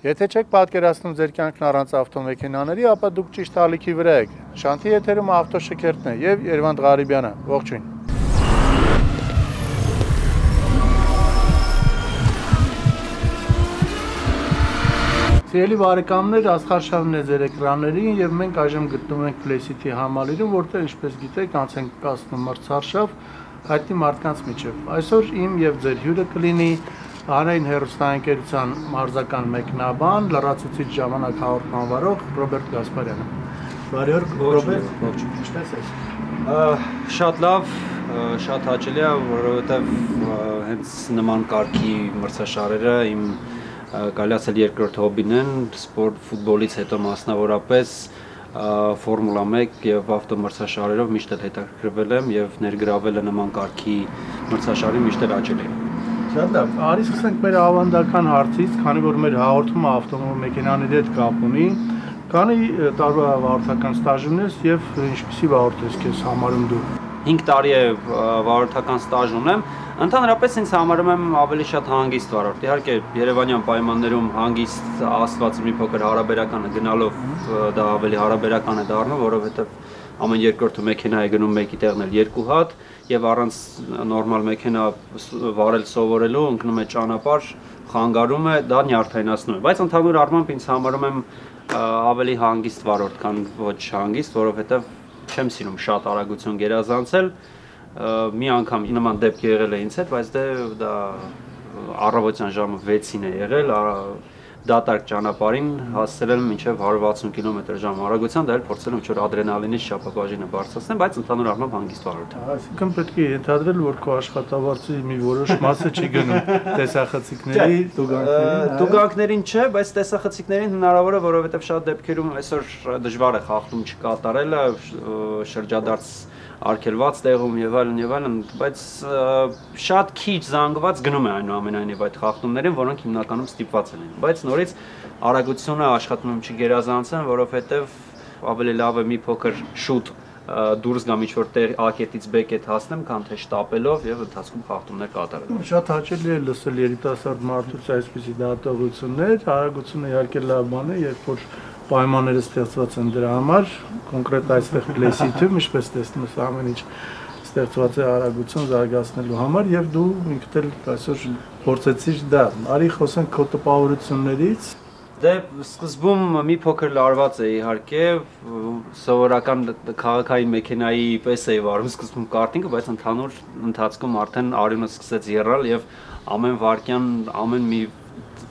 Եթե չեք պատկերացնում ձեր կյանքն առանց ավտոմեքենաների, ապա դուք ճիշտ ալիքի վրա եք։ Շանթի եթերում ավտոշքերթն է եւ Երվանդ Ղարիբյանը։ Ողջույն։ Սիրելի բարեկամներ, Աստղարշավն է ձեր էկրաններին եւ մենք այժմ գտնվում ենք Play-City համալիրում, որտեղ ինչպես գիտեք, անց ենք կացնում մրցարշավ հայտնի մարդկանց միջև։ Այսօր իմ եւ ձեր հյուրը կլինի Հանրային հեռուստաընկերության մարզական մեկնաբան, լրացուցիչ ժամանակ հաղորդման վարող Ռոբերտ Գասպարյանը։ Բարի օր, Ռոբերտ, ողջույն, ինչպե՞ս եք։ Շատ լավ, շատ հաճելի է, որովհետև հենց նման կարգի մրցաշարերը իմ կարելի ասել երկրորդ հոբին են, սպորտ ֆուտբոլից հետո մասնավորապես Ֆորմուլա 1 եւ ավտոմրցաշարերով միշտ հետաքրքրվել եմ եւ ներգրավելը նման կարգի մրցաշարի միշտ հաճելի է։ Շատ լավ, արի սկսենք մեր ավանդական հարցից, քանի որ մեր հաղորդումը ավտոմեքենաների հետ կապ ունի, քանի տարվա վարորդական ստաժ ունես եւ ինչպիսի վարորդ ես քեզ համարում դու։ 5 տարի է վարորդական ստաժ ունեմ, ընդհանրապես ինձ համարում եմ ավելի շատ հանգիստ վարորդ։ Իհարկե Երևանյան պայմաններում հանգիստ ասվածը մի փոքր հարաբերական է, գնալով դա ավելի հարաբերական է դառնում, որովհետեւ ամեն երկրորդը մեքենա է գնում մեկի տեղն էլ 2 հատ եւ առանց նորմալ մեքենա վարել սովորելու ընկնում է ճանապարհ, խանգարում է, դա նյարդայնացնում է, բայց ընդհանուր առմամբ ինձ համարում եմ ավելի հանգիստ վարորդ, քան ոչ հանգիստ, որովհետեւ չեմ սիրում շատ արագություն գերազանցել, մի անգամ նման դեպք եղել է ինձ հետ, բայց դա առավոտյան ժամը 6-ին է եղել, դատարկ ճանապարհին հասցրել եմ մինչև 160 կմ/ժ արագության, դա էլ փորձել եմ ինչ-որ ադրենալինից շապակվաժինը բարձրացնել, բայց ընդհանուր առմամբ հանգիստ վարորդ եմ։ Այսինքն պետք է ենթադրել, որ քո աշխատավարձի մի որոշ մասը չի գնում տեսախցիկների, տուգանքներին չէ, բայց տեսախցիկներին հնարավոր է, որովհետև շատ դեպքերում այսօր դժվար է խախտում չկատարելը, շրջադարձ արգելված տեղում եւ այլն, բայց շատ քիչ զանգված գնում է այնուամենայնիվ այդ խախտումներին, որոնք հիմնականում ստիպված են լինում, բայց նորից արագությունը աշխատում եմ չգերազանցեմ, որովհետեւ ավելի լավ է մի փոքր շուտ դուրս գամ ինչ-որ տեղ A-կետից B-կետ հասնեմ, քան թե շտապելով եւ ընթացքում խախտումներ կատարել։ Շատ հաճելի է լսել երիտասարդ մարդուց այսպիսի դատողություններ, արագությունը իհարկե լավ բան է, երբ որ պայմանները ստեղծված են դրա համար, կոնկրետ այստեղ Play-City-ում, ինչպես տեսնում ես, ամեն ինչ ստեղծված է արագություն զարգացնելու համար եւ դու ինքդ էլ այսօր փորձեցիր դա։ Արի խոսենք քո տպավորություններից։ Դե սկզբում մի փոքր լարված է իհարկե, սովորական քաղաքային մեքենայի պես էի վարում սկզբում կարտինգը, բայց ընդհանուր ընթացքում արդեն արյունը սկսեց եռալ եւ ամեն վայրկյան, ամեն մի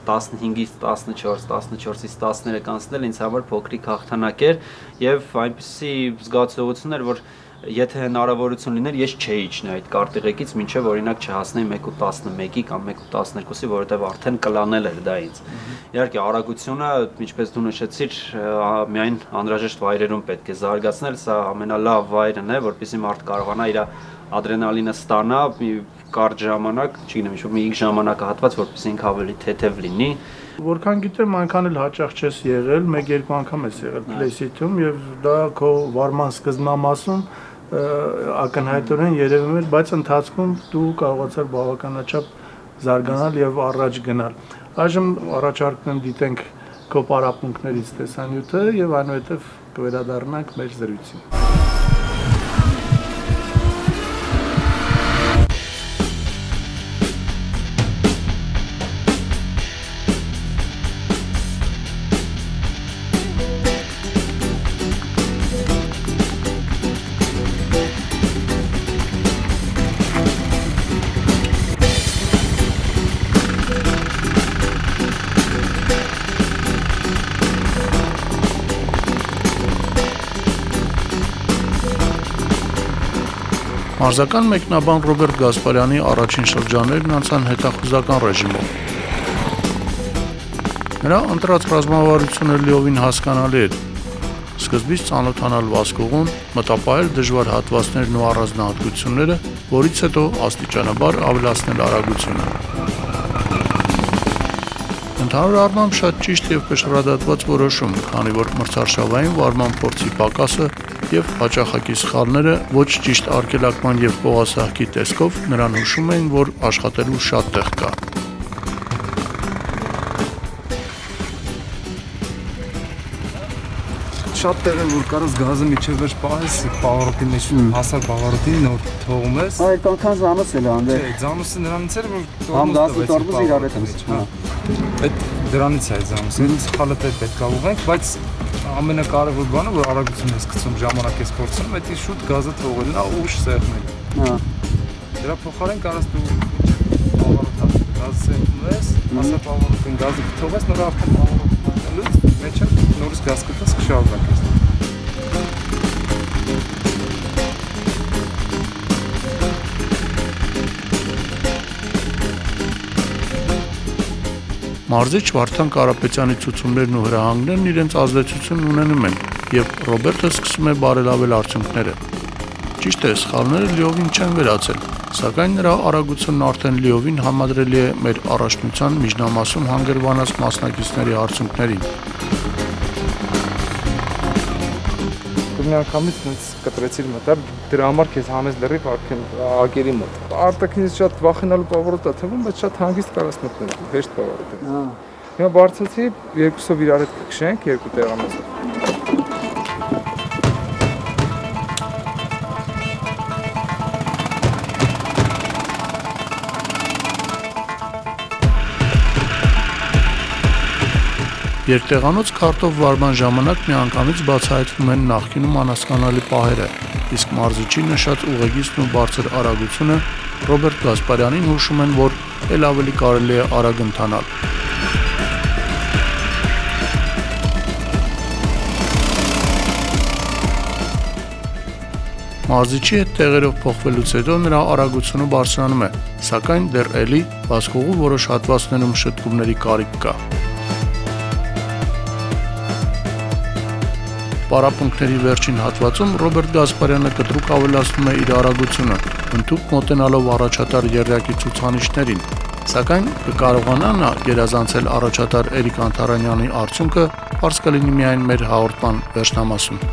15-ից 14, 14-ից 13 անցնել ինձ համար փոքրիկ հաղթանակ էր եւ այնպիսի զգացողություն էր, որ եթե հնարավորություն լիներ, ես չէի իջնի այդ կարտեղեկից, մինչև օրինակ չհասնեի 1.11-ի կամ 1.12-ի, որովհետև արդեն կլանել էր դա ինձ։ Իհարկե արագությունը, ինչպես դու նշեցիր, միայն անհրաժեշտ վայրերում պետք է զարգացնել, սա ամենալավ վայրն է, որպեսզի մարդ կարողանա իր ադրենալինը ստանա մի կարճ ժամանակ, չգիտեմ, ինչ-որ մի ժամանակահատված, որպեսզի ինքը ավելի թեթև լինի։ Որքան գիտեմ, այնքան էլ հաճախ չես եղել, 1-2 անգամ ես եղել Play-City-ում եւ դա քո վարման սկզբնամասում ակնհայտորեն երևում էր, բայց ընթացքում դու կարողացար բավականաչափ զարգանալ եւ առաջ գնալ։ Այժմ առաջարկում եմ դիտենք քո պարապմունքներից տեսանյութը եւ այնուհետեւ կվերադառնանք մեր զրույցին։ Մարզական մեկնաբան Ռոբերտ Գասպարյանի առաջին շրջաններն անցան հետախուզական ռեժիմով։ Նրա ընտրած ռազմավարությունը լիովին հասկանալի էր։ Սկզբից ծանոթանալ վազքողուն, մտապահել դժվար հատվածներն ու առանձնահատկությունները, որից հետո աստիճանաբար ավելացնել արագությունը։ Ընդհանուր առմամբ շատ ճիշտ եւ կշռադատված որոշում, քանի որ մրցարշավային վարման փորձի պակասը եւ հաճախակի սխալները ոչ ճիշտ արգելակման եւ փողասահքի տեսքով նրան հուշում էին, որ աշխատելու շատ տեղ կա։ շատ տեղ է որ կարաս գազը միջև վերջ պահես, բաղարոտի մեջ հասար բաղարոտին նոր թողում ես։ Այդ անգամ զանոց էլ անդե։ Չէ, ծանոթը նրանից էր որ Համ գազը տորմոզը իրար հետ մտնում։ Այդ դրանից է ծանոթը։ Ինձ խալը պետք է ուղենք, բայց ամենակարևոր բանը որ արագություն ես գցում, ժամանակ ես կորցնում, դա շուտ գազը թողելն է, ուշ սեղմել։ Հա։ Դրա փոխարեն կարաս դու բաղարոտը գազը սեղմում ես, հասար բաղարոտին գազը թողես, նոր արդեն բաղարոտը մեջը նորից գազ կտես կշարունակես։ Մարզիչ Վարդան Կարապետյանի ցուցումներն ու հրահանգներն իրենց ազդեցությունն ունենում են, եւ Ռոբերտը սկսում է բարելավել արդյունքները։ Ճիշտ է, սխալները լիովին չեն վերացել, սակայն նրա արագությունն արդեն լիովին համադրելի է մեր առաջնության միջնամասում հանգրվանած մասնակիցների արդյունքներին։ Մի անգամից ինձ կտրեցիր մտար, դրա համար քեզ հանես լրիվ արդեն ագերի մոտ։ Արտաքինից շատ վախենալու բավարոտ է թվում, բայց շատ հանգիստ կարաս մտնել, հեշտ բավարոտ է։ Հա։ Հիմա բարձացի, երկուսով իրար հետ կքշենք, երկու տեղամասով։ Երկտեղանոց քարտով վարման ժամանակ միանգամից բացահայտվում են նախկինում անհասկանալի պահերը, իսկ մարզիչի նշած ուղեգիծն ու բարձր արագությունը Ռոբերտ Գասպարյանին հուշում են, որ ել ավելի կարելի է արագ ընթանալ։ Մարզիչի հետ տեղերով փոխվելուց հետո նրա արագությունը բարձրանում է, սակայն դեռ էլի վազքողու որոշ հատվածներում շտկումների կարիք կա։ Պարապմունքների վերջին հատվածում Ռոբերտ Գասպարյանը կտրուկ ավելացնում է իր արագությունը, ընդհուպ մոտենալով առաջատար եռյակի ցուցանիշներին, սակայն կկարողանա նա գերազանցել առաջատար Էրիկ Անտարանյանի արդյունքը, պարզ կլինի միայն մեր հաղորդման վերջնամասում։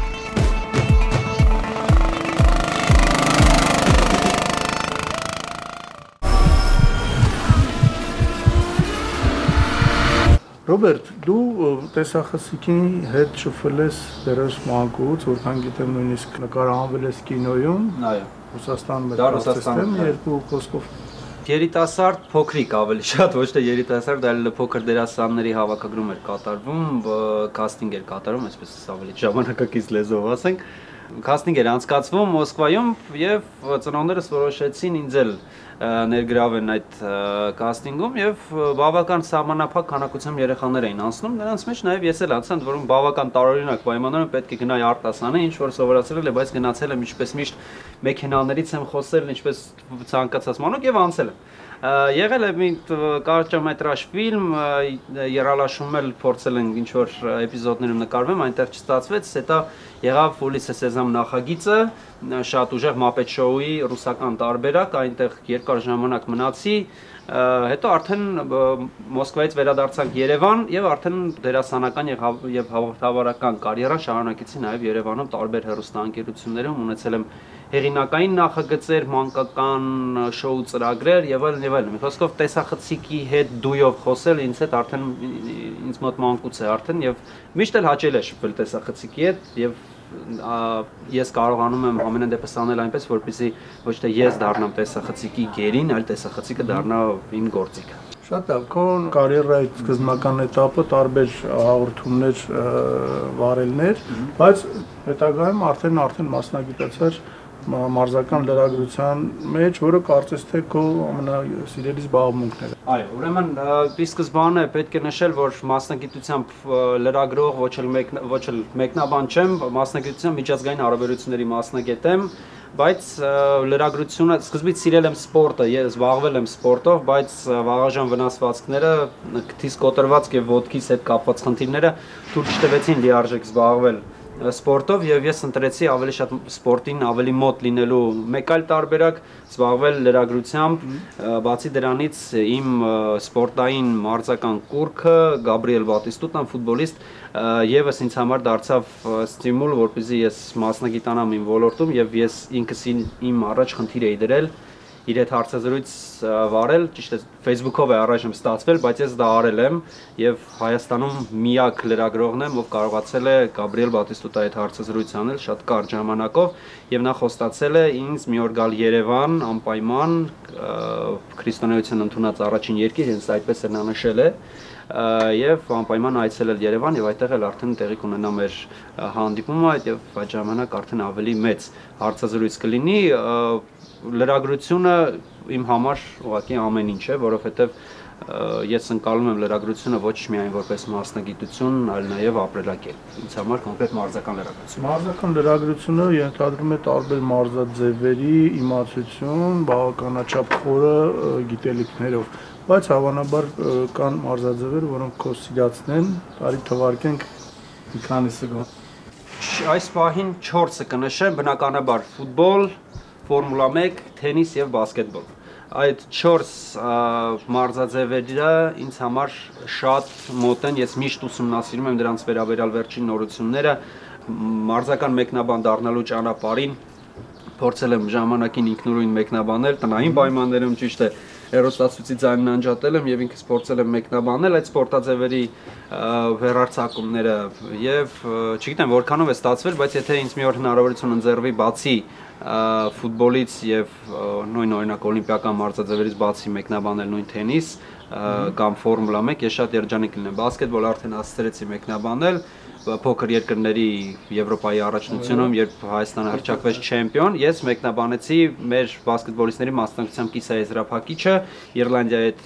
Ռոբերտ, դու տեսախցիկի հետ շփվել ես դերս մանկուց, որքան գիտեմ նույնիսկ նկարահանվել ես կինոյում։ Այո։ Ռուսաստան Դա Ռուսաստանում, երկու խոսքով։ Երիտասարդ փոքրիկ ավելի շատ ոչ թե երիտասարդ, այլ փոքր դերասանների հավաքագրում էր կատարվում, կաստինգ էր կատարում, այսպես ավելի ժամանակակից լեզվով ասենք։ Կաստինգ էր անցկացվում Մոսկվայում եւ ծնողներս որոշեցին ինձ էլ ներգրավեն այդ կաստինգում եւ բավական սահմանափակ քանակությամբ երեխաներ էին անցնում, նրանց մեջ նաեւ ես էլ անցա, որոնք բավական տարօրինակ պայմաններում պետք է գնայի արտասանը, ինչ որ սովորացրել է, բայց գնացել եմ ինչպես միշտ մեքենաներից եմ խոսել, ինչպես ցանկացած մանուկ եւ անցել եմ։ Եղել է մի կարճամետրաժ ֆիլմ, երալաշում էլ փորձել են ինչ որ էպիզոդներում նկարվեմ, այնտեղ չստացվեց, հետո եղավ Ուլիսես Սեզամ նախագիծը, շատ ուժեղ Muppet Show-ի ռուսական տարբերակ, այնտեղ երկար ժամանակ մնացի, հետո արդեն Մոսկվայից վերադարձանք Երևան եւ արդեն դերասանական եւ հաղորդավարական կարիերան շարունակեցի նաեւ Երևանում տարբեր հեռուստաընկերություններում, ունեցել եմ հեղինակային նախագծեր, մանկական շոու ծրագրեր եւ այլն եւ այլն։ Մի խոսքով տեսախցիկի հետ դույով խոսել ինձ հետ արդեն ինձ մոտ մանկուց է արդեն եւ միշտ էլ հաճել է շփվել տեսախցիկի հետ եւ ես կարողանում եմ ամենայն դեպս անել այնպես, որպեսզի ոչ թե ես դառնամ տեսախցիկի գերին, այլ տեսախցիկը դառնա իմ գործիքը։ Շատ լավ, քո կարիերայի սկզբնական этаպը տարբեր հաղորդումներ վարելներ, բայց հետագայում արդեն մասնագիտացար մարզական լրագրության մեջ, որը կարծես թե քո ամենասիրելի զբաղմունքն է։ Այո, ուրեմն ի սկզբանե պետք է նշել, որ մասնագիտությամբ լրագրող ոչ էլ մեկնաբան չեմ, մասնագիտությամբ միջազգային հարաբերությունների մասնագետ եմ, բայց լրագրությունը սկզբից սիրել եմ սպորտը, ես զբաղվել եմ սպորտով, բայց վաղաժամ վնասվածքները, քթիս կոտրվածք եւ ոտքիս հետ կապված խնդիրները թույլ չտվեցին լիարժեք զբաղվել սպորտով եւ ես ընտրեցի ավելի շատ սպորտին ավելի մոտ լինելու մեկ այլ տարբերակ զբաղվել լրագրությամբ, բացի դրանից իմ սպորտային մարզական կուրքը Գաբրիել Բատիստուտան ֆուտբոլիստ եւս ինձ համար դարձավ ստիմուլ, որպեսզի ես մասնագիտանամ իմ ոլորտում եւ ես ինքս իմ առաջ խնդիր էի դրել իր հետ հարցազրույց վարել, ճիշտ է Facebook-ով է առայժմ ստացվել, բայց ես դա արել եմ եւ Հայաստանում միակ լրագրողն եմ, ով կարողացել է Գաբրիել Բատիստուտայի հետ հարցազրույց անել շատ կարճ ժամանակով եւ նա խոստացել է ինձ մի օր գալ Երևան անպայման քրիստոնեություն ընդունած առաջին երկիր, հենց այդպես էլ նա նշել է եւ անպայման այցելել Երևան եւ այդտեղ էլ արդեն տեղի կունենա մեր հանդիպումը եւ այդ ժամանակ արդեն ավելի մեծ հարցազրույց կլինի լրագրությունը իմ համար ուղղակի ամեն ինչ է, որովհետեւ ես ընկալում եմ լրագրությունը ոչ միայն որպես մասնագիտություն, այլ նաեւ ապրելակերպ։ Ինձ համար կոնկրետ մարզական լրագրություն։ Մարզական լրագրությունը ենթադրում է տարբեր մարզաձևերի իմացություն, բավականաչափ խորը գիտելիքներով, բայց հավանաբար կան մարզաձևեր, որոնք քո սիրածն են, բարի թվարկենք մի քանիսը գոհ։ Այս պահին 4-ը կնշեմ, բնականաբար ֆուտբոլ, Ֆորմուլա 1, թենիս եւ բասկետբոլ։ Այդ 4 մարզաձևերը ինձ համար շատ մոտ են, ես միշտ ուսումնասիրում եմ դրանց վերաբերյալ վերջին նորությունները, մարզական մեկնաբան դառնալու ճանապարհին փորձել եմ ժամանակին ինքնուրույն մեկնաբանել, տնային պայմաններում ճիշտ է հեռուստացույցի ձայնն անջատել եմ եւ ինքս փորձել եմ մեկնաբանել այդ սպորտաձևերի վերարցակումները եւ չգիտեմ որքանով է ստացվել, բայց եթե ինձ մի օր հնարավորություն ընձեռվի բացի ֆուտբոլից եւ նույն օրինակ օլիմպիական մարզաձևերից բացի մեկնաբանել նույն թենիս կամ ֆորմուլա 1, ես շատ երջանիկ կլինեմ։ Բասկետբոլ արդեն հասցրեցի մեկնաբանել փոքր երկրների Եվրոպայի առաջնությունում, երբ Հայաստանը հռչակվեց չեմպիոն, ես մեկնաբանեցի մեր բասկետբոլիստների մասնակցությամբ կիսաեզրափակիչը Իռլանդիայի հետ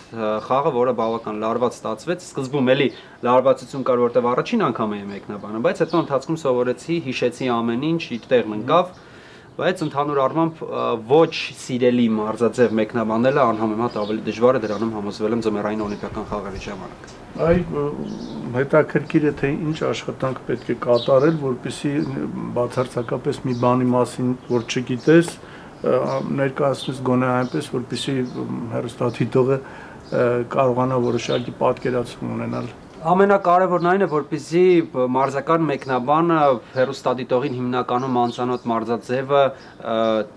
խաղը, որը բավական լարված ստացվեց։ Սկզբում էլի լարվածություն կար, որտեղ առաջին անգամ էի մեկնաբանում, բայց հետո ընթացքում սովորեցի, հիշեցի ամեն ինչ, իր տեղն ընկավ։ Բայց ընդհանուր առմամբ ոչ սիրելի մարզաձև մեկնաբանելը անհամեմատ ավելի դժվար է, դրանում համոզվել եմ ձմեռային օլիմպիական խաղերի ժամանակ։ Այ հետաքրքիր է թե ինչ աշխատանք պետք է կատարել, որպեսզի բացարձակապես մի բանի մասին, որ չգիտես, ներկայացնես գոնե այնպես, որպեսզի հեռուստադիտողը կարողանա որոշակի պատկերացում ունենալ։ Ամենակարևորն այն է, որպեսզի մարզական մեկնաբանը հեռուստադիտողին հիմնականում անծանոթ մարզաձևը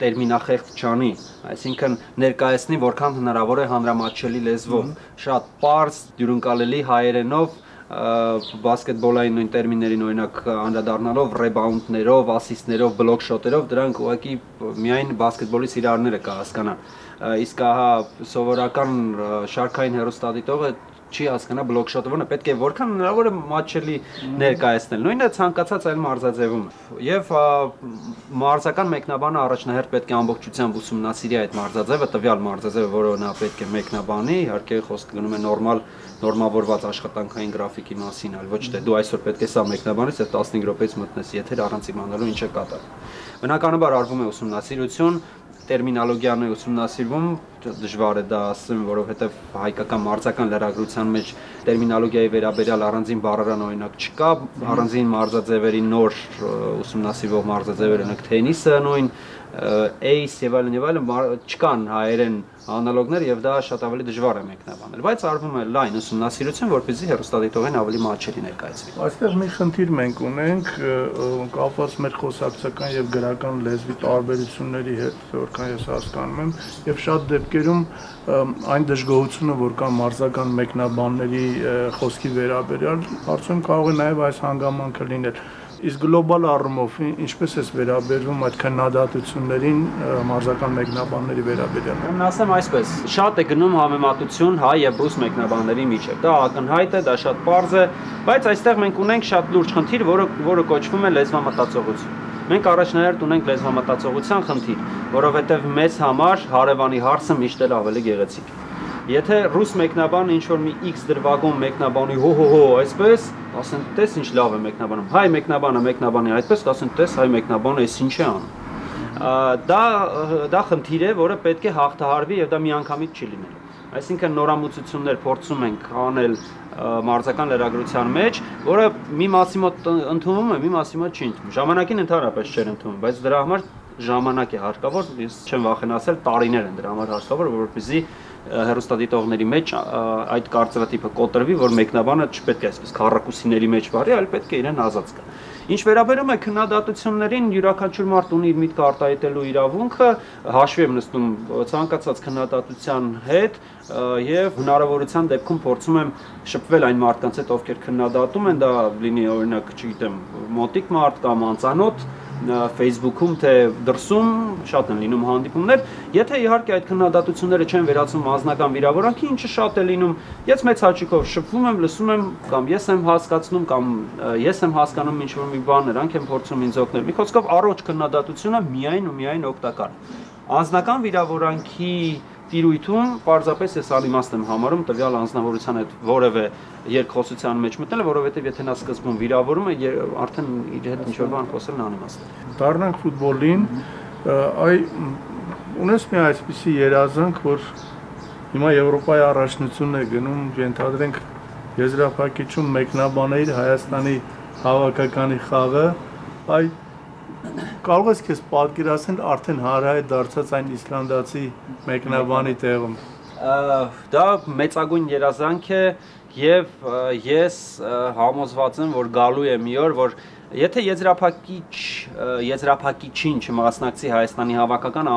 տերմինախեղծ չանի, այսինքն ներկայացնի որքան հնարավոր է հանրամատչելի լեզվով, շատ պարզ, դյուրընկալելի հայերենով բասկետբոլային նույն տերմիններին օրինակ անդրադառնալով ռեբաունդներով, ասիստներով, բլոկ շոտերով, դրանք ուղղակի միայն բասկետբոլի սիրահարները կհասկանան։ Իսկ ահա սովորական շարքային հեռուստադիտողը չի հասկանա բլոկ շոտը, որը պետք է որքան հնարավոր է մատչելի ներկայացնել։ Նույնը ցանկացած այլ մարզաձևում։ Եվ մարզական մեկնաբանը առաջնահերթ պետք է ամբողջությամբ ուսումնասիրի այդ մարզաձևը, տվյալ մարզաձևը, որը նա պետք է մեկնաբանի, իհարկե խոսքը գնում է նորմավորված աշխատանքային գրաֆիկի մասին, այլ ոչ թե դու այսօր պետք է սա մեկնաբանես, այդ 15 րոպեից մտնես եթեր առանց իմանալու ինչ է կատարվում։ Բնականաբար արվում է ուսումնասիրություն, տերմինոլոգիան է ուսումնասիրվում, դժվար է դա ասեմ, որովհետև հայկական մարզական լրագրության մեջ տերմինոլոգիայի վերաբերյալ առանձին բառարան օրինակ չկա, առանձին մարզաձևերի նոր ուսումնասիրվող մարզաձևեր են թենիսը նույն ace եւ այլն չկան հայերեն անալոգներ եւ դա շատ ավելի դժվար է մեկնաբանել, բայց արվում է լայն ուսումնասիրություն, որպեսզի հեռուստադիտողին ավելի մատչելի ներկայացվի։ Այստեղ մի խնդիր մենք ունենք կապված մեր խոսակցական եւ գրական լեզվի տարբերությունների հետ, որքան ես հասկանում եմ, եւ շատ դեպքերում այն դժգոհությունը, որ կա մարզական մեկնաբանների խոսքի վերաբերյալ, արդյոք կարող է նաեւ այս հանգամանքը լինել։ Իսկ գլոբալ առումով ինչպես է վերաբերվում այդ քննադատություններին մարզական մեկնաբանների վերաբերյալ։ Ուրեմն ասեմ այսպես, շատ է գնում համեմատություն հայ եւ ռուս մեկնաբանների միջեւ։ Դա ակնհայտ է, դա շատ պարզ է, բայց այստեղ մենք ունենք շատ լուրջ խնդիր, որը կոչվում է լեզվամտածողություն։ Մենք առաջնահերթ ունենք լեզվամտածողության խնդիր, որովհետեւ մեզ համար հարևանի հարցը միշտ էլ ավելի գեղեցիկ է։ Եթե ռուս մեկնաբանը ինչ-որ մի X դրվագում մեկնաբանի հո այսպես, ասեն տես ինչ լավ է մեկնաբանում։ Հայ մեկնաբանը մեկնաբանի այդպես, ասեն տես հայ մեկնաբանը էս ինչ է անում։ Դա խնդիր է, որը պետք է հաղթահարվի եւ դա միանգամից չի լինելու։ Այսինքն նորամուծություններ փորձում ենք անել մարզական լրագրության մեջ, որը մի մասի մոտ ընդունվում է, մի մասի մոտ չի ընդունվում։ Ժամանակին ընդհանրապես չէր ընդունվում, բայց դրա համար ժամանակ է հարկավոր, ես չեմ վախենացել, տարիներ են դրա համար հարկավոր, որպեսզի հեռուստադիտողների մեջ այդ կարծրատիպը կոտրվի, որ մեկնաբանը չպետք է այսպես քառակուսիների մեջ վարի, այլ պետք է իրեն ազատ զգա։ Ինչ վերաբերում է քննադատություններին, յուրաքանչյուր մարդ ունի իր միտքը արտահայտելու իրավունքը, հաշվի եմ նստում ցանկացած քննադատության հետ եւ հնարավորության դեպքում փորձում եմ շփվել այն մարդկանց հետ, ովքեր քննադատում են, դա լինի օրինակ, չգիտեմ, մոտիկ մարդ կամ անծանոթ Facebook-ում թե դրսում շատ են լինում հանդիպումներ, եթե իհարկե այդ քննադատությունները չեն վերածվում անձնական վիրավորանքի, ինչը շատ է լինում, ես մեծ հաճույքով շփվում եմ, լսում եմ, կամ ես եմ հասկացնում, կամ ես եմ հասկանում ինչ-որ մի բան, նրանք են փորձում ինձ օգնել։ Մի խոսքով առողջ քննադատությունը միայն ու միայն օգտակար է։ Անձնական վիրավորանքի տիրույթում պարզապես ես անիմաստ եմ համարում տվյալ անձնավորության հետ որևէ երկխոսության մեջ մտնելը, որովհետև եթե նա սկզբում վիրավորում է, արդեն իր հետ ինչ-որ բան խոսելն անիմաստ է։ Դառնանք ֆուտբոլին, ունես մի այսպիսի երազանք, որ հիմա Եվրոպայի առաջնությունն է գնում, ենթադրենք եզրափակիչում մեկնաբանել Հայաստանի հավաքականի խաղը, կարող ես քեզ պատկերացնել արդեն հանրահայտ դարձած այն իսլանդացի մեկնաբանի տեղում։ Դա մեծագույն երազանք է եւ ես համոզված եմ, որ գալու է մի օր, որ եթե եզրափակիչին չմասնակցի Հայաստանի հավաքական,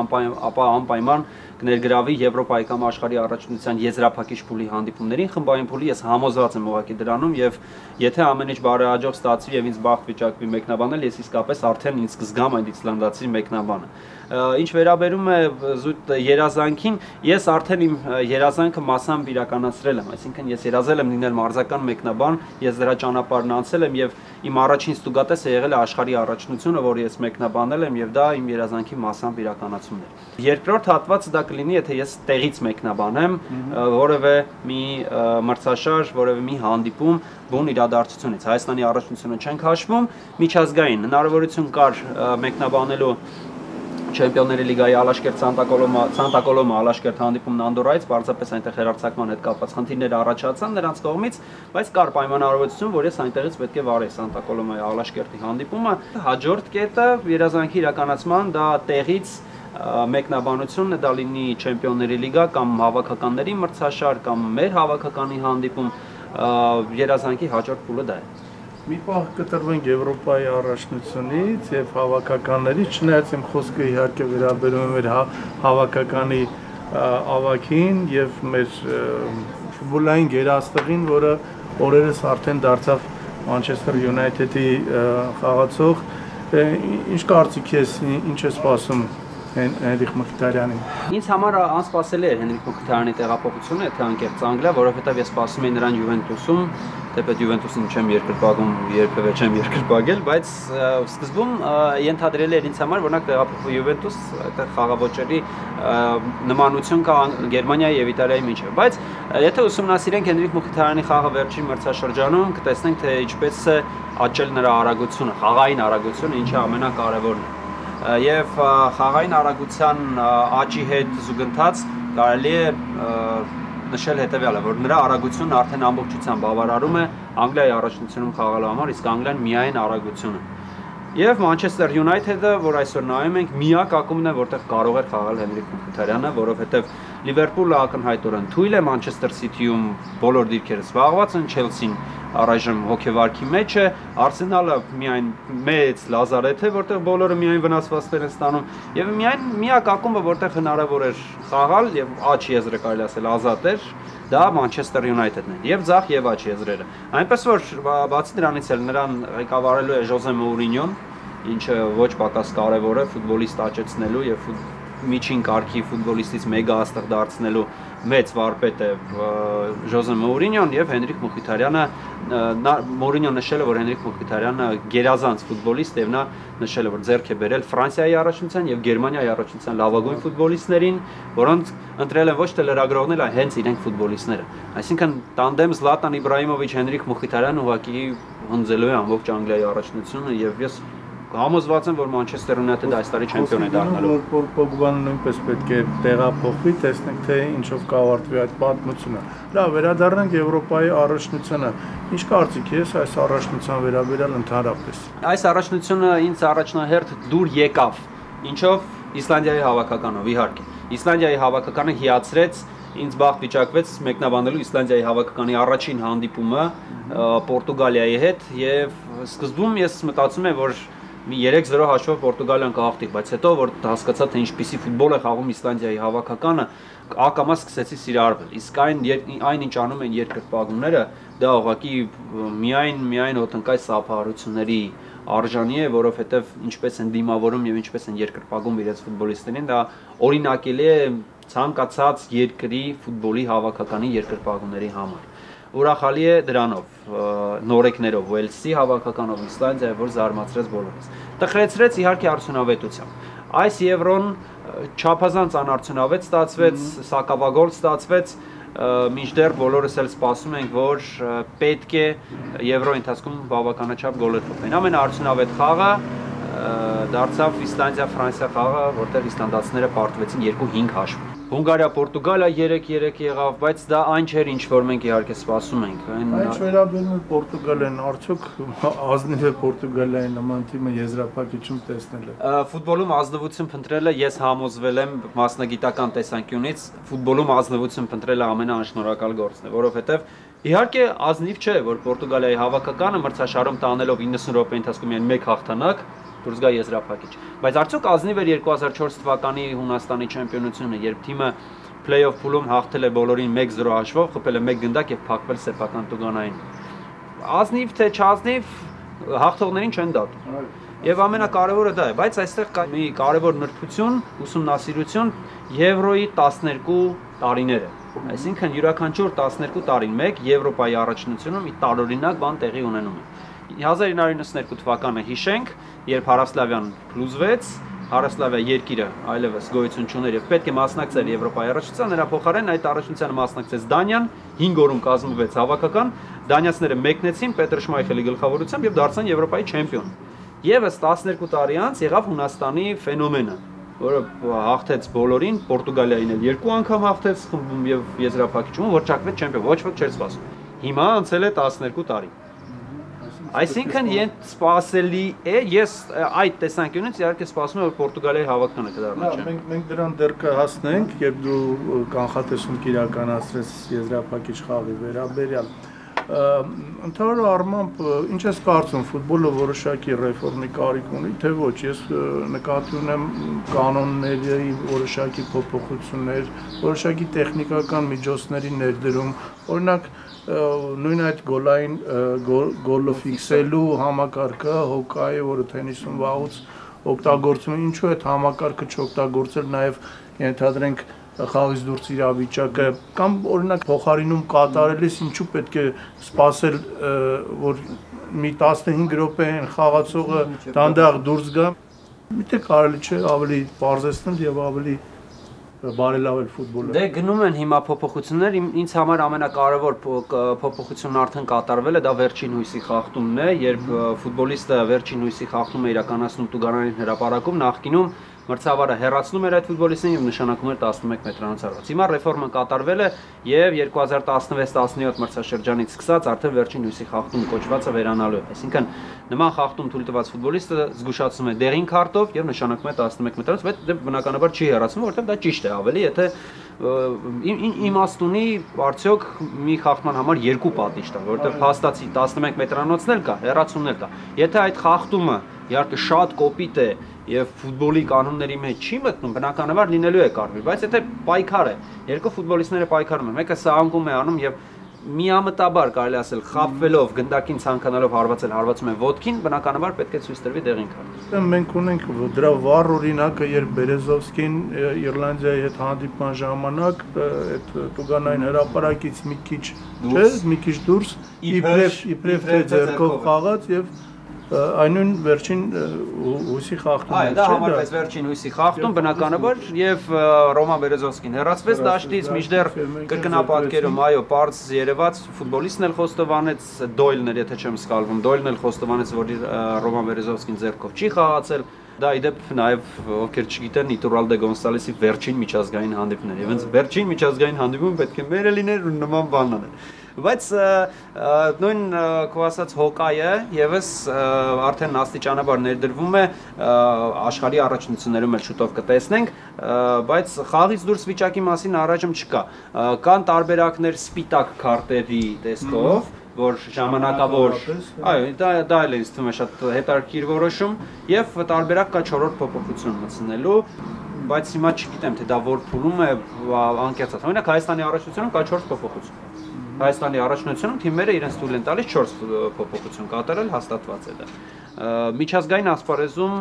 ապա անպայման կներգրավի Եվրոպայի կամ աշխարհի առաջնության եզրափակիչ փուլի հանդիպումներին, խմբային փուլի ես համոզված եմ ուղղակի դրանում եւ եթե ամեն ինչ բարեհաջող ստացվի եւ ինձ բախտ վիճակվի մեկնաբանել, ես իսկապես արդեն ինձ կզգամ այդ իսլանդացի մեկնաբանը։ Ինչ վերաբերում է զուտ երազանքին, ես արդեն իմ երազանքը մասամբ իրականացրել եմ, այսինքն ես երազել եմ լինել մարզական մեկնաբան, ես դրա ճանապարհն անցել եմ եւ իմ առաջին ստուգատեսը եղել է աշխարհի առաջնությունը, որ ես մեկնաբանել եմ եւ դա իմ երազանքի մասամբ իրականացումն է։ Երկրորդ հատվածը դա կլինի, եթե ես տեղից մեկնաբանեմ որևէ մի մրցաշար, որևէ մի հանդիպում բուն իրադարձությունից։ Հայաստանի առաջնությունը չենք հաշվում, միջազգային հնարավորություն կար մեկնաբանելու Չեմպիոնների լիգայի Ալաշկերտ Սանտա Կոլոմա Ալաշկերտ հանդիպումն Անդորայից, պարզապես այնտեղ հերարցակման հետ կապված խնդիրներ առաջացան նրանց կողմից, բայց կար պայմանավորվածություն, որ ես այնտեղից պետք է վարեի Սանտա Կոլոմայի Ալաշկերտի հանդիպումը։ Հաջորդ կետը երազանքի իրականացման դա տեղից մեկնաբանությունն է, դա լինի Չեմպիոնների լիգա կամ հավաքականների մրցաշար կամ մեր հավաքականի հանդիպում, երազանքի հաջորդ փուլը դա է։ Մի պահ կտրվենք Եվրոպայի առաջնությունից եւ հավաքականներից, չնայած իմ խոսքը իհարկե վերաբերում է մեր հավաքականի ավագին եւ մեր ֆուտբոլային գերաստղին, որը օրերս արդեն դարձավ Manchester United-ի խաղացող։ Ինչ կարծիք ես, ինչ է սպասում Հենրիխ Մխիթարյանին։ Ինձ համար անսպասելի էր Հենրիխ Մխիթարյանի տեղափոխությունը, եթե անկեղծ անգլիա, որովհետև ես սպասում էի նրան Յուվենտուսում, թեպետ Յուվենտուսին չեմ երկրպագում, երբևէ չեմ երկրպագել, բայց սկզբում ենթադրել էր ինձ համար, որ նա տեղափոխվի Յուվենտուս, այդտեղ խաղաոճերի նմանություն կա Գերմանիայի եւ Իտալիայի միջեւ, բայց եթե ուսումնասիրենք Հենրիխ Մխիթարյանի խաղը վերջին մրցաշրջանում, կտեսնենք թե ինչպես է աճել նրա արագությունը, խաղային արագությունը, ինչը ամենակարևորն է։ Եվ խաղային արագության աճի հետ զուգընթաց կարելի է նշել հետևյալը, որ նրա արագությունն արդեն ամբողջությամբ բավարարում է Անգլիայի առաջնությունում խաղալու համար, իսկ Անգլիան միայն արագությունը։ Եվ Manchester United-ը, որ այսօր նայում ենք, միակ ակումբն է, որտեղ կարող էր խաղալ Հենրիխ Մխիթարյանը, որովհետև Լիվերպուլը ակնհայտորեն թույլ է, Manchester City-ում բոլոր դիրքերը զբաղված են, Chelsea-ն առայժմ հոգեվարքի մեջ է, Arsenal-ը միայն մեծ լազարեթ է, որտեղ բոլորը միայն վնասվածքներ են ստանում, եւ միայն միակ ակումբը, որտեղ հնարավոր էր խաղալ եւ աճ եզրը կարելի ասել ազատ էր, դա Manchester United-ն է, եւ ձախ եւ աճ եզրերը։ Այնպես որ բացի դրանից էլ նրան ղեկավարելու է Ժոզե Մոուրինյոն, ինչը ոչ պակաս կարևոր է ֆուտբոլիստ աճեցնելու եւ միջին կարգի ֆուտբոլիստից մեգա աստղ դարձնելու մեծ վարպետ է Ժոզե Մոուրինյոն եւ Հենրիխ Մխիթարյանը Մոուրինյոն նշել է, որ Հենրիխ Մխիթարյանը գերազանց ֆուտբոլիստ եւ նա նշել է, որ ձեռք է բերել Ֆրանսիայի առաջնության եւ Գերմանիայի առաջնության լավագույն ֆուտբոլիստներին, որոնց ընտրել են ոչ թե լրագրողները, այլ հենց իրենք ֆուտբոլիստները։ Այսինքն տանդեմ Զլատան Իբրահիմովիչ Հենրիխ Մխիթարյանը ուղղակի հնձելու է ամբողջ Անգլիայի առաջնությունը եւ ես համոզված եմ, որ Manchester United-ը այս տարի չեմպիոն է դառնալու։ Որ Պոգբան նույնպես պետք է տեղափոխվի, տեսնենք թե ինչով կավարտվի այդ պատմությունը։ Լավ, վերադառնանք Եվրոպայի առաջնությանը։ Ինչ կարծիք ես այս առաջնության վերաբերյալ ընդհանրապես։ Այս առաջնությունը ինձ առաջնահերթ դուր եկավ, ինչով Իսլանդիայի հավաքականով իհարկե։ Իսլանդիայի հավաքականը հիացրեց ինձ բախտ վիճակվեց մեկնաբանելու Իսլանդիայի հավաքականի առաջին հանդիպումը Պորտուգալիայի հետ եւ սկզբում ես մտածում եմ, որ մի 3-0 հաշվով Պորտուգալիան կհաղթի, բայց հետո որ հասկացա թե ինչպիսի ֆուտբոլ է խաղում Իսլանդիայի հավաքականը, ակամա սկսեցի սիրահարվել։ Իսկ այն ինչ անում են երկրպագուները, դա ուղղակի միայն ոտնկայ սափահարությունների արժանի է, որովհետև ինչպես են դիմավորում եւ ինչպես են երկրպագում իրենց ֆուտբոլիստերին, դա օրինակելի է ցանկացած երկրի ֆուտբոլի հավաքականի երկրպագուների համար։ Ուրախալի է դրանով, նորեկներով, Ուելսի հավաքականով, Իսլանդիայի, որ զարմացրեց բոլորս։ Տխրեցրեց իհարկե արդյունավետությամբ։ Այս Եվրոն չափազանց անարդյունավետ ստացվեց, սակավագործ ստացվեց, մինչդեռ բոլորս էլ սպասում ենք, որ պետք է Եվրոյի ընթացքում բավականաչափ գոլեր խփեն։ Ամենաարդյունավետ խաղը դարձավ Իսլանդիա-Ֆրանսիա խաղը, որտեղ իսլանդացիները պարտվեցին 2-5 հաշվով։ Հունգարիա-Պորտուգալիա 3-3 եղավ, բայց դա այն չէր, ինչ որ մենք իհարկե սպասում ենք։ Ինչ վերաբերում է Պորտուգալիան, արդյոք ազնիվ է Պորտուգալիայի նման թիմը եզրափակիչում տեսնել է։ Ֆուտբոլում ազնվություն փնտրելը ես համոզվել եմ մասնագիտական տեսանկյունից, ֆուտբոլում ազնվություն փնտրելը ամենաանշնորհակալ գործն է, որովհետև իհարկե ազնիվ չէ, որ Պորտուգալիայի հավաքականը մրցաշարում տանելով 90 րոպե ընթացքում միայն 1 հաղթանակ դուրս գա եզրափակիչ։ Բայց արդյոք ազնիվ էր 2004 թվականի Հունաստանի չեմպիոնությունը, երբ թիմը play-off փուլում հաղթել է բոլորին 1-0 հաշվով, խփել է 1 գնդակ եւ փակվել սեփական տուգանային։ Ազնիվ թե չազնիվ հաղթողներին չեն դատում։ Եվ ամենակարևորը դա է, բայց այստեղ կա մի կարևոր նրբություն, ուսումնասիրություն Եվրոյի 12 տարիները։ Այսինքն յուրաքանչյուր 12 տարին մեկ Եվրոպայի առաջնությունում մի տարօրինակ բան տեղի ունենում է։ 1992 թվականը հիշենք, երբ Հարավսլավիան փլուզվեց, Հարավսլավիա երկիրը այլևս գոյություն չուներ եւ պետք է մասնակցեր Եվրոպայի առաջնությանը, նրա փոխարեն այդ առաջնությանը մասնակցեց Դանիան, 5 օրում կազմվեց հավաքական, դանիացիները մեկնեցին Պետր Շմայխելի գլխավորությամբ եւ դարձան Եվրոպայի չեմպիոն։ Եվս 12 տարի անց եղավ Հունաստանի ֆենոմենը, որը հաղթեց բոլորին, Պորտուգալիային էլ 2 անգամ հաղթեց խմբում եւ եզրափակիչում որճակվեց չեմպիոն, ոչ ոք չէր սպասում։ Հիմա անցել է 12 տարի։ Այսինքն սպասելի է, ես այդ տեսանկյունից իհարկե սպասում եմ, որ Պորտուգալիայի հավաքականը կդառնա չեմպիոն։ Մենք դրան դեռ կհասնենք, երբ դու կանխատեսում կիրականացրես եզրափակիչ խաղի վերաբերյալ։ Ընդհանուր առմամբ ինչ ես կարծում, ֆուտբոլը որոշակի ռեֆորմի կարիք ունի, թե ոչ, ես նկատի ունեմ կանոնների որոշակի փոփոխություններ, որոշակի տեխնիկական միջոցների ներդրում, օրինակ նույն այդ գոլային գոլը ֆիքսելու համակարգը հոկայի, որը թենիսում վաղուց օգտագործում է, ինչու այդ համակարգը չօգտագործել նաև ենթադրենք խաղից դուրս իրավիճակը կամ օրինակ փոխարինում կատարելիս ինչու պետք է սպասել որ մի 15 րոպե խաղացողը դանդաղ դուրս գա, միթե կարելի չէ ավելի բարձրացնել եւ ավելի բարելավել ֆուտբոլը։ Դե գնում են հիմա փոփոխություններ, ինձ համար ամենակարևոր փոփոխությունն արդեն կատարվել է, դա վերջին հույսի խախտումն է, երբ ֆուտբոլիստը վերջին հույսի խախտումը իրականացնում տուգարանային հրապարակում, նախկինում մրցավարը հեռացնում էր այդ ֆուտբոլիստին եւ նշանակում էր 11 մետրանոց արված։ Հիմա ռեֆորման կատարվել է եւ 2016-17 մրցաշրջանից սկսած արդեն վերջին հույսի խախտում կոչվածը վերանալու է։ Այսինքն նման խախտում թույլ տված ֆուտբոլիստը զգուշացում է դեղին քարտով եւ նշանակում է 11 մետրանոց, բայց դե բնականաբար չի հեռացվում, որովհետեւ դա ճիշտ է ավելի, եթե իմաստ ունի արդյոք մի խախտման համար 2 պատիժ տալ, որովհետեւ փաստացի 11 մետրանոցն էլ կա, հեռացումն էլ կա։ Եթե այդ խախտումը իհարկե շատ կոպիտ է եւ ֆուտբոլի կանոնների մեջ չի մտնում, բնականաբար լինելու է կարմիր, բայց եթե պայքար է, երկու ֆուտբոլիստները պայքարում են, մեկը սահանգում է անում եւ միամտաբար կարելի ասել խաբվելով գնդակին ցանկանալով հարվածում են ոտքին, բնականաբար պետք է ցույց տրվի դեղին քարտ։ Մենք ունենք դրա վառ օրինակը, երբ Բերեզովսկին Իռլանդիայի հետ հանդիպման ժամանակ այդ տուգանային հրապարակից մի քիչ դուրս իբրև թե ձեռքով խաղաց եւ այնուն վերջին հույսի խախտում է։ Դա համարվեց վերջին հույսի խախտում, բնականաբար, եւ Ռոման Բերեզովսկին հեռացվեց դաշտից, մինչդեռ կրկնապատկերում, այո, պարզ երևաց, ֆուտբոլիստն էլ խոստովանեց, Դոյլն էր, եթե չեմ սխալվում, Դոյլն էլ խոստովանեց, որ Ռոման Բերեզովսկին ձեռքով չի խաղացել։ Դա իդեպ նաև ովքեր չգիտեն Իturral de Gonçalves-ի վերջին միջազգային հանդիպներ, եւ հենց վերջին միջազգային հանդիպում պետք է մերը լիներ ու նման բան անել։ Բայց նույն քո ասած հոկայը եւս արդեն աստիճանաբար ներդրվում է աշխարհի առաջնություններում էլ շուտով կտեսնենք, բայց խաղից դուրս վիճակի մասին առայժմ չկա։ Կան տարբերակներ սպիտակ քարտերի տեսքով, որ ժամանակավոր, այո, դա էլ ինձ թվում է շատ հետաքրքիր որոշում եւ տարբերակ կա 4-րդ փոփոխություն մտցնելու, բայց հիմա չգիտեմ թե դա որ փուլում է անկեղծած։ Օրինակ Հայաստանի առաջնությունում կա 4 փոփոխություն։ Հայաստանի առաջնությունում թիմերը իրենց թույլ են տալիս 4 փոփոխություն կատարել, հաստատված է դա։ Միջազգային ասպարեզում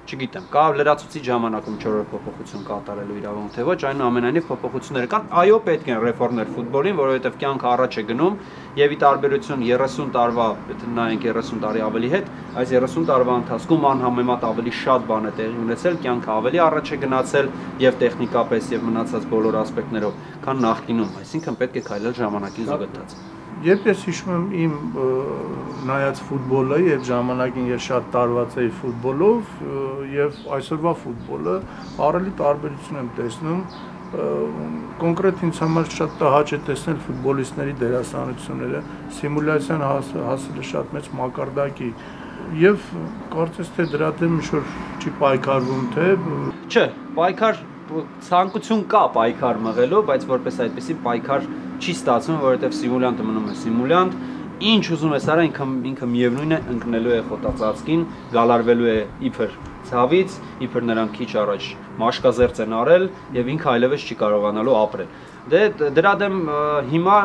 չգիտեմ, կա լրացուցիչ ժամանակում 4 փոփոխություն կատարելու իրավունք թե ոչ, այնուամենայնիվ փոփոխություններ կան։ Այո, պետք են ռեֆորմներ ֆուտբոլին, որովհետև կյանքը առաջ է գնում եւ ի տարբերություն 30 տարվա, եթե նայենք 30 տարի ավելի հետ, այս 30 տարվա ընթացքում անհամեմատ ավելի շատ բան է տեղի ունեցել, կյանքը ավելի առաջ է գնացել եւ տեխնիկապես եւ մնացած բոլոր ասպեկտներով, քան նախկինում, այսինքն պետք է քայլել ժամանակին զուգընթաց։ Երբ ես հիշում եմ իմ նայած ֆուտբոլը եւ ժամանակին ես շատ տարված էի ֆուտբոլով եւ այսօրվա ֆուտբոլը առավել տարբերություն եմ տեսնում կոնկրետ ինձ համար շատ տհաճ է տեսնել ֆուտբոլիստների դերասանությունները սիմուլյացիան հասել է շատ մեծ մակարդակի եւ կարծես թե դրա դեմ ինչ-որ չի պայքարվում թե չէ պայքար ցանկություն կա պայքար մղելու բայց որպես այդպեսի պայքար չի ստացվում որովհետեւ սիմուլյանտը մնում է սիմուլյանտ ինչ ուզում ես արա ինքը միևնույն է ընկնելու է խոտածածկին գալարվելու է իբր ցավից իբր նրան քիչ առաջ մաշկազերծ են արել եւ ինքը այլևս չի կարողանալու ապրել դե դրա դեմ հիմա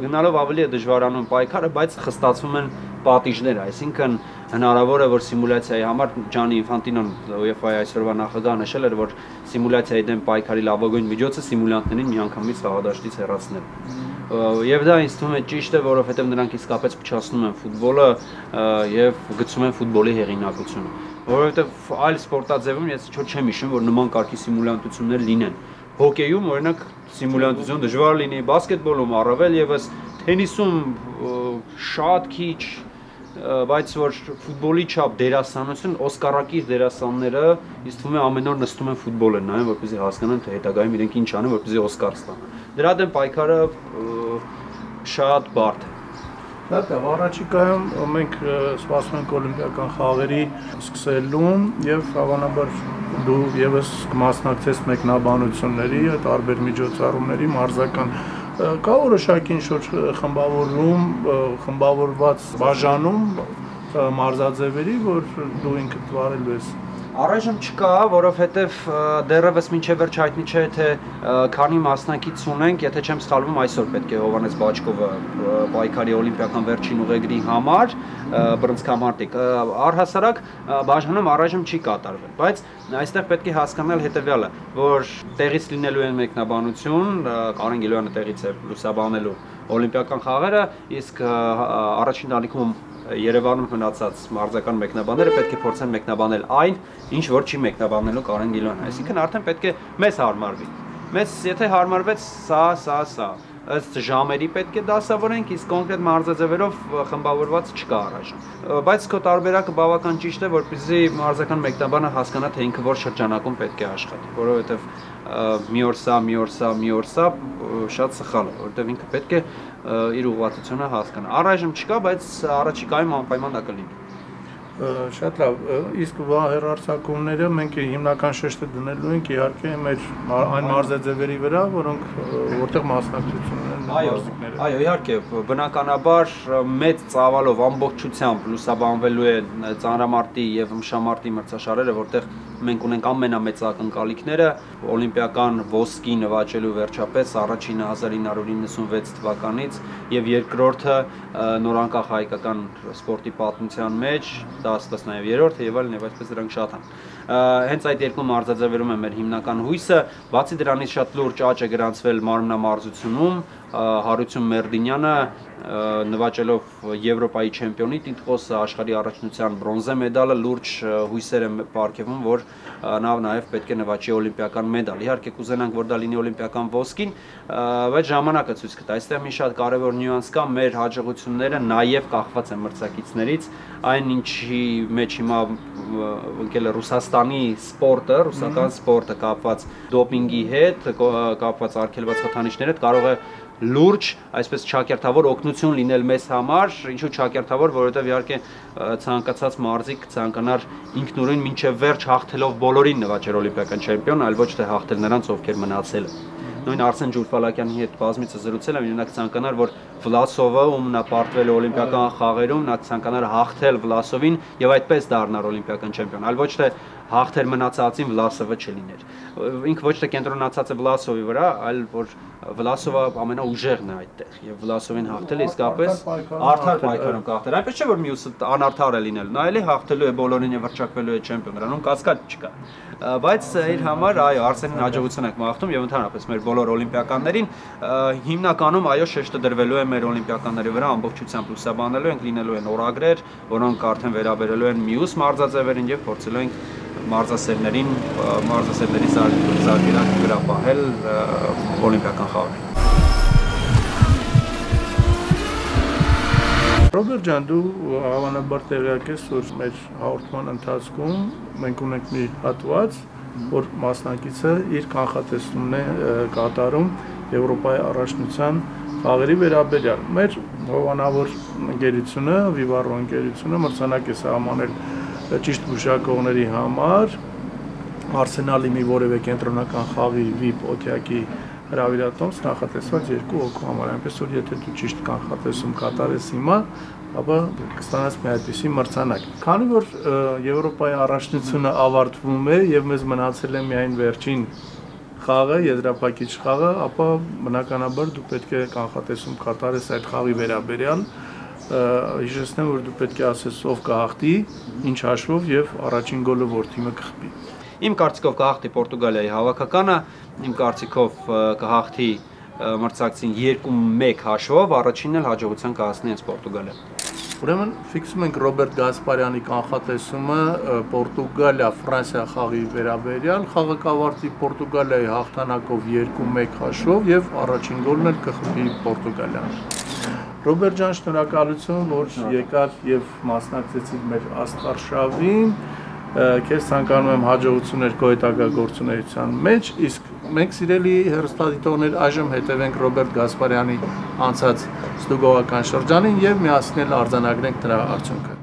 գնալով ավելի է դժվարանում պայքարը բայց խստացվում են պատիժներ այսինքն հնարավոր է որ սիմուլյացիայի համար Ջանի Ինֆանտինոն UEFA-ի այսօրվա նախագահը նշել էր որ սիմուլյացիայի դեմ պայքարի լավագույն միջոցը սիմուլյանտներին միանգամից խաղադաշտից հեռացնելը եւ դա ինձ թվում է ճիշտ է որովհետեւ նրանք իսկապես փչացնում են ֆուտբոլը եւ գցում են ֆուտբոլի հեղինակությունը որովհետեւ այլ սպորտաձևում ես ինչ-որ չեմ հիշում որ նման կարգի սիմուլյանտություններ լինեն հոկեյում օրինակ սիմուլյանտություն դժվար լինի բասկետբոլում առավել եւս թենիսում շատ քիչ բայց որ ֆուտբոլի չափ դերասանություն օսկարակիր դերասանները ինձ թվում է ամեն օր նստում են ֆուտբոլ են նայում որպեսզի հասկանան թե հետագայում իրենք ինչ անեն որպեսզի օսկար ստանան դրա դեմ պայքարը շատ բարդ է Շատ է, առաջիկայում մենք սպասում ենք օլիմպիական խաղերի սկսելուն եւ հավանաբար դու եւս կմասնակցես մեկնաբանությունների, տարբեր միջոցառումների, մարզական կա որոշակի ինչ-որ խմբավորում, խմբավորված բաժանում մարզաձևերի, որ դու ինքդ վարելու ես Առայժմ չկա, որովհետև դեռևս մինչև վերջ հայտնի չէ, թե քանի մասնակից ունենք, եթե չեմ սխալվում, այսօր պետք է Հովհաննես Բաչկովը պայքարի օլիմպիական վերջին ուղեգրի համար բռնցքամարտիկ առհասարակ բաժանում առայժմ չի կատարվել, բայց այստեղ պետք է հասկանալ հետևյալը, որ տեղից լինելու են մեկնաբանություն, Կարեն Գիլոյանը տեղից է լուսաբանելու օլիմպիական խաղերը, իսկ առաջին ալիքում Երևանում մնացած մարզական մեկնաբանները պետք է փորձեն մեկնաբանել այն, ինչ որ չի մեկնաբանելու Կարեն Գիլոյանը, այսինքն արդեն պետք է մեզ հարմարվի։ Մեզ եթե հարմարվեց սա, ըստ ժամերի պետք է դասավորենք, իսկ կոնկրետ մարզաձևերով խմբավորված չկա առայժմ։ Բայց քո տարբերակը բավական ճիշտ է, որպեսզի մարզական մեկնաբանը հասկանա, թե ինքը որ շրջանակում պետք է աշխատի, որովհետև մի օր սա շատ սխալ է, որովհետև ինքը պետք է իր ուղղվածությունը հասկանա։ Առայժմ չկա, բայց առաջիկայում անպայման դա կլինի։ Շատ լավ, իսկ հեռարձակումները մենք հիմնական շեշտը դնելու ենք իհարկե մեր այն մարզաձևերի վրա, որտեղ մասնակցություն ունեն մարզիկները։ Այո, իհարկե, բնականաբար մեծ ծավալով ամբողջությամբ լուսաբանվելու է ծանրամարտի եւ ըմբշամարտի մրցաշարերը, որտեղ մենք ունենք ամենամեծ ակնկալիքները օլիմպիական ոսկի նվաճելու վերջապես առաջինը 1996 թվականից եւ երկրորդը նորանկախ հայկական սպորտի պատմության մեջ դա ասած նաեւ երրորդը եւ այլն եւ այսպես դրանք շատ են հենց այդ երկու մարզաձևերում է մեր հիմնական հույսը բացի դրանից շատ լուրջ աճ է գրանցվել մարմնամարզությունում Հարություն Մերդինյանը նվաճելով Եվրոպայի չեմպիոնի տիտղոսը աշխարհի առաջնության բրոնզե մեդալը լուրջ հույսեր են պարգևում, որ նա նաև պետք է նվաճի օլիմպիական մեդալ։ Իհարկե կուզենանք, որ դա լինի օլիմպիական ոսկին, բայց ժամանակը ցույց կտա։ Այստեղ մի շատ կարևոր նյուանս կա, մեր հաջողությունները նաև կախված են մրցակիցներից, այն ինչի մեջ հիմա ընկել է Ռուսաստանի սպորտը, ռուսական սպորտը կապված դոպինգի հետ, կապված արգելված խթանիչների հետ կարող է լուրջ, այսպես ճակերտավոր օգնություն լինել մեզ համար, ինչու ճակերտավոր, որովհետև իհարկե ցանկացած մարզիկ ցանկանար ինքնուրույն մինչև վերջ հաղթելով բոլորին նվաճել օլիմպիական չեմպիոն, այլ ոչ թե հաղթել նրանց, ովքեր մնացել են։ Նույն Արսեն Ջուլֆալակյանի հետ բազմիցս զրուցել եմ, նա ցանկանար, որ Վլասովը, ում նա պարտվել է օլիմպիական խաղերում, նա ցանկանար հաղթել Վլասովին եւ այդպես դառնալ օլիմպիական չեմպիոն, այլ ոչ թե հաղթեր մնացածին Վլասովը չլիներ։ Ինքը ոչ թե կենտրոնացած է Վլասովի վրա, այլ որ Վլասովը ամենաուժեղն է այդտեղ եւ Վլասովին հաղթել իսկապես արդար պայքարում կհաղթել։ Այնպես չէ որ մյուսը անարդար է լինել, նա էլի հաղթելու է բոլորին եւ վրճակվելու է չեմպիոն, նրանում կասկած չկա։ Բայց իր համար այո, Արսենին հաջողություն ենք մաղթում եւ ընդհանրապես մեր բոլոր օլիմպիականներին հիմնականում այո շեշտը դրվելու է մեր օլիմպիականների վրա ամբողջությամբ լուսաբանելու ենք, լինելու են օրագրեր, որոնք արդեն վերաբերելու են մյուս մարզաձևերին եւ փորձելու ենք մարզասերների զարգերակ գրապահել օլիմպիական խաղերին։ Ռոբերտ ջան, դու հավանաբար տեղյակ ես, որ մեր հաղորդման ընթացքում մենք ունենք մի հատված, որ մասնակիցը իր կանխատեսումն է կատարում Եվրոպայի առաջնության խաղերի վերաբերյալ։ Մեր հովանավոր ընկերությունը, Վիվարո ընկերությունը մրցանակ է սահմանել ճիշտ գուշակողների համար Արսենալի մի որևէ կենտրոնական խաղի VIP օթյակի հրավիրատոմս նախատեսված 2 հոգու համար, այնպես որ եթե դու ճիշտ կանխատեսում կատարես հիմա, ապա կստանաս մի այդպիսի մրցանակ։ Քանի որ Եվրոպայի առաջնությունը ավարտվում է եւ մեզ մնացել է միայն վերջին խաղը, եզրափակիչ խաղը, ապա բնականաբար դու պետք է կանխատեսում կատարես այդ խաղի վերաբերյալ։ Հիշեցնեմ, որ դու պետք է ասես ով կհաղթի, ինչ հաշվով եւ առաջին գոլը որ թիմը կխփի։ Իմ կարծիքով կհաղթի Պորտուգալիայի հավաքականը, իմ կարծիքով կհաղթի մրցակցին 2-1 հաշվով, առաջինն էլ հաջողության կհասնի հենց Պորտուգալիան։ Ուրեմն ֆիքսում ենք Ռոբերտ Գասպարյանի կանխատեսումը Պորտուգալիա-Ֆրանսիա խաղի վերաբերյալ, խաղը կավարտի Պորտուգալիայի հաղթանակով 2-1 հաշվով եւ առաջին գոլն էլ կխփի Պորտուգալիան։ Ռոբերտ ջան, շնորհակալություն, որ եկար եւ մասնակցեցիք մեր աստղարշավին։ Քեզ ցանկանում եմ հաջողություններ քո հետագա գործունեության մեջ, իսկ մենք սիրելի հեռուստադիտողներ այժմ հետևենք Ռոբերտ Գասպարյանի անցած ստուգողական շրջանին եւ միասին արձանագրենք նրա արդյունքը։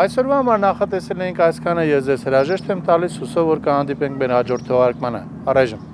Այսօրվա համար նախատեսել էինք այսքանը, ես ձեզ հրաժեշտ եմ տալիս, հուսով որ կհանդիպենք մեր հաջորդ թողարկմանը։ Առայժմ